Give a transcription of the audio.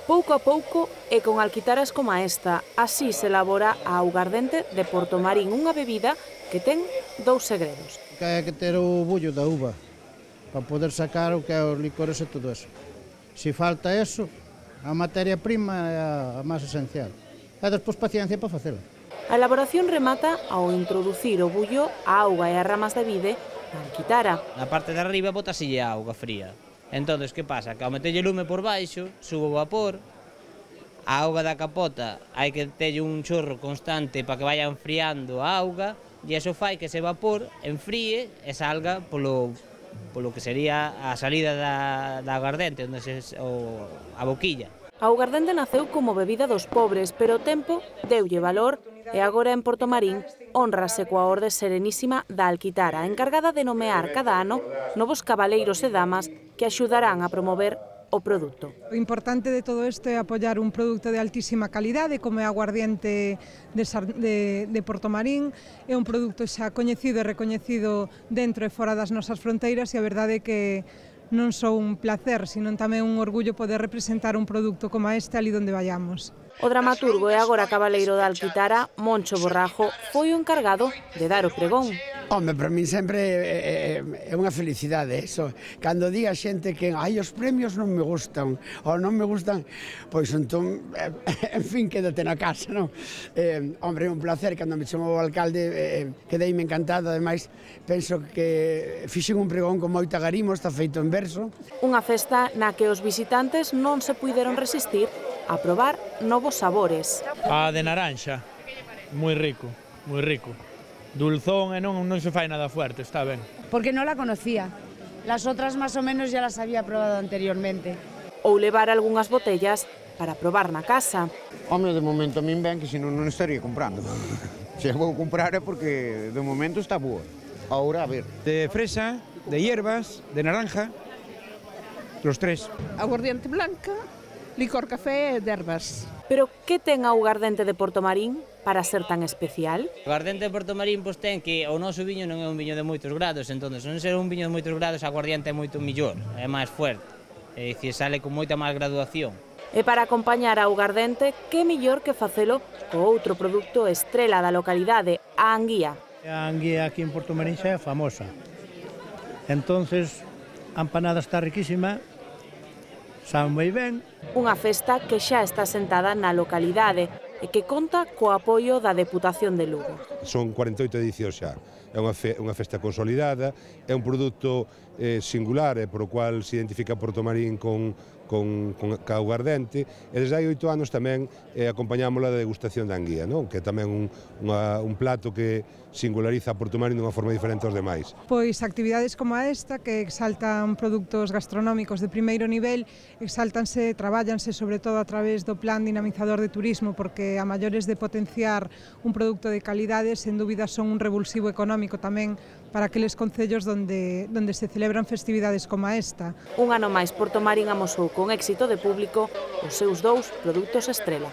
Pouco a pouco e con alquitaras como esta, así se elabora a augardente de Portomarín, unha bebida que ten dous segredos. Hai que ter o bullo da uva para poder sacar o que é os licores e todo eso. Se falta eso, a materia prima é a máis esencial. E despois paciencia para facela. A elaboración remata ao introducir o bullo, a auga e as ramas de vide na alquitara. Na parte de arriba botasille a auga fría. Entón, que pasa? Que ao metelle lume por baixo, sube o vapor, a auga da capota hai que telle un chorro constante para que vaya enfriando a auga e iso fai que ese vapor enfríe e salga polo que sería a salida da aguardente, onde a boquilla. A augardente naceu como bebida dos pobres, pero o tempo deulle valor e agora en Portomarín honrase coa Orde Serenísima da Alquitara, encargada de nomear cada ano novos cabaleiros e damas que axudarán a promover o produto. O importante de todo isto é apoiar un produto de altísima calidade, como é a aguardiente de Portomarín. É un produto xa coñecido e recoñecido dentro e fora das nosas fronteiras e a verdade é que non só un placer, sino tamén un orgullo poder representar un produto como este ali onde vayamos. O dramaturgo e agora cabaleiro da Alquitara, Moncho Borrajo, foi o encargado de dar o pregón. Home, para min sempre é unha felicidade eso. Cando di a xente que os premios non me gustan ou non me gustan, pois entón, en fin, quédate na casa, non? Hombre, é un placer, cando me chamou o alcalde, quedeime encantado, ademais, penso que fixen un pregón con moito agarimo, está feito en verso. Unha festa na que os visitantes non se puideron resistir a probar novos sabores. A de naranxa, moi rico, moi rico. Dulzón e non se fai nada fuerte, está ben. Porque non la conocía. Las otras más o menos ya las había probado anteriormente. Ou levar algunhas botellas para probar na casa. Home, de momento a min ben que senón non estaría comprando. Se a vou comprar é porque de momento está boa. Ahora, a ver. De fresa, de hierbas, de naranja, los tres. Aguardiente blanca, licor café e de herbas. Pero que ten a augardente de Portomarín para ser tan especial? O aguardente de Portomarín ten que o noso viño non é un viño de moitos grados, entón, se non ser un viño de moitos grados, a aguardiente é moito mellor, é máis fuerte, é dicir, sale con moita máis graduación. E para acompañar a augardente, que mellor que facelo co outro produto estrela da localidade, a anguía. A anguía aquí en Portomarín xa é famosa. Entonces, a empanada está riquísima, sabe moi ben. Unha festa que xa está sentada na localidade e que conta co apoio da Deputación de Lugo. Son 48 edicións xa, é unha festa consolidada, é un produto singular e por o cual se identifica Portomarín con augardente e desde hai 8 anos tamén acompañámola da degustación da anguía, non? Que é tamén un plato que singulariza a Portomarín dunha forma diferente aos demais. Pois actividades como esta que exaltan produtos gastronómicos de primeiro nivel, exaltanse, trabállanse sobre todo a través do plan dinamizador de turismo, porque a maiores de potenciar un produto de calidade, sen dúbida son un revulsivo económico tamén para aqueles concellos donde se celebran festividades como esta. Un ano máis Portomarín amosou con éxito de público os seus 2 produtos estrela.